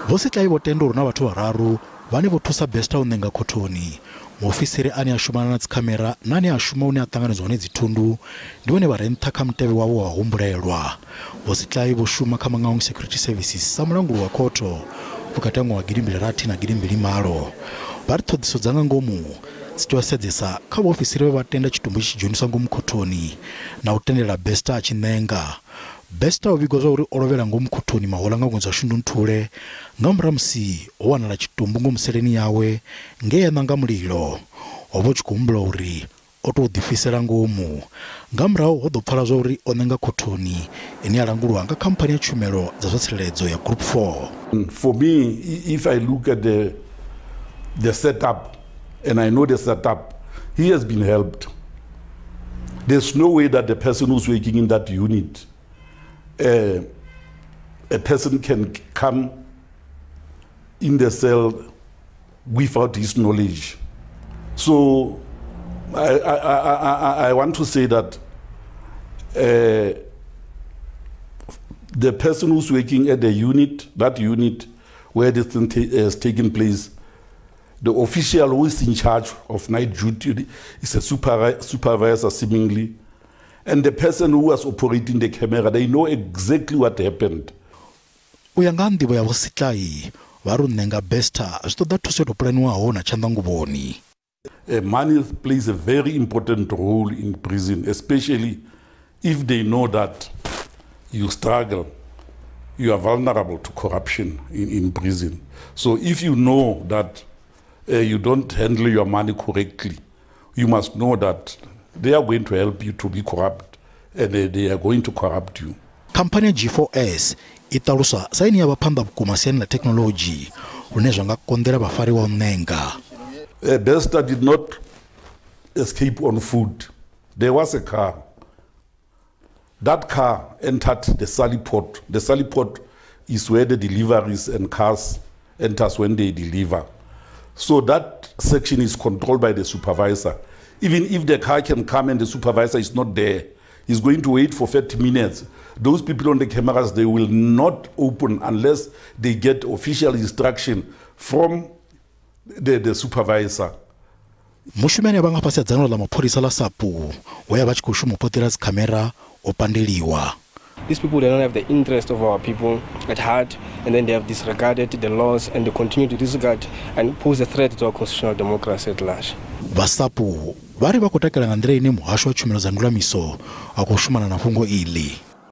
Vho Setlai vho tenda uri na vhathu vhararu vhane vho thusa Bester u ṋenga khothoni, muofisiri ane a shumana na dzikhamera na ane a shuma hune a ṱanganedzwa hone dzithundu ndi vhone vha re nṱha kha mutevhe wavho wa humbulelwa. Vho Setlai vho shuma kha Mangaung Security Services sa mulanguli wa khotho vhukati ha ṅwaha wa 2006 na 2008. Vha ri ṱhoḓiso dza nga ngomu dzi tea u sedzesa kha vhaofisiri vhe vha tenda tshitumbu tshi tshi dzheniswa ngomu khothoni na u tendela Bester a tshi ṋenga. Bester o vhigwa zwa uri o lovhela ngomu khothoni mahoḽa nga ṅwedzi wa Shundunthule nga murahu musi ho wanala tshitumbu ngomu seleni yawe nge ya ṋanga mulilo. Ho vha hu tshi khou humbulwa uri o tou ḓifhisela ngomu. Nga murahu ho ḓo pfala zwa uri o ṋenga khothoni ine ya langulwa nga khamphani ya tshumelo dza zwa tsireledzo ya Group 4. For me, if I look at the setup, and I know the setup, he has been helped. There's no way that the person who's working in that unit, a person can come in the cell without his knowledge. So I want to say that the person who's working at the unit, that unit where this thing has taken place, the official who is in charge of night duty is a supervisor seemingly, and the person who was operating the camera, they know exactly what happened. U ya nga nḓivho ya Vho Setlai, vha ri u ṋenga Bester zwi ṱoḓa thuso yo tou pulaniwaho na tshanḓanguvhoni. Money plays a very important role in prison, especially if they know that you struggle, you are vulnerable to corruption in prison. So if you know that you don't handle your money correctly, you must know that they are going to help you to be corrupt, and they are going to corrupt you. Khamphani ya G4S i ṱaluswa sa ine ya vha phanḓa vhukuma siani ḽa thekhinoḽodzhi lune zwa nga konḓela vhafariwa u ṋenga. Bester did not escape on foot. There was a car. That car entered the sally port. The sally port is where the deliveries and cars enters when they deliver. So that section is controlled by the supervisor. Even if the car can come and the supervisor is not there, he's going to wait for 30 minutes. Those people on the cameras, they will not open unless they get official instruction from the supervisor. Mushumi ane a vha nga fhasi ha dzangano ḽa mapholisa ḽa SAPU we a vha tshi khou shuma u poṱela dzikhamera o pandeliwa. These people, they don't have the interest of our people at heart, and then they have disregarded the laws and they continue to disregard and pose a threat to our constitutional democracy at large. Vha SAPU vha ri vha khou takala nga nḓila ine muhasho wa tshumelo dza ndulamiso a khou shumana na fhungo iḽi.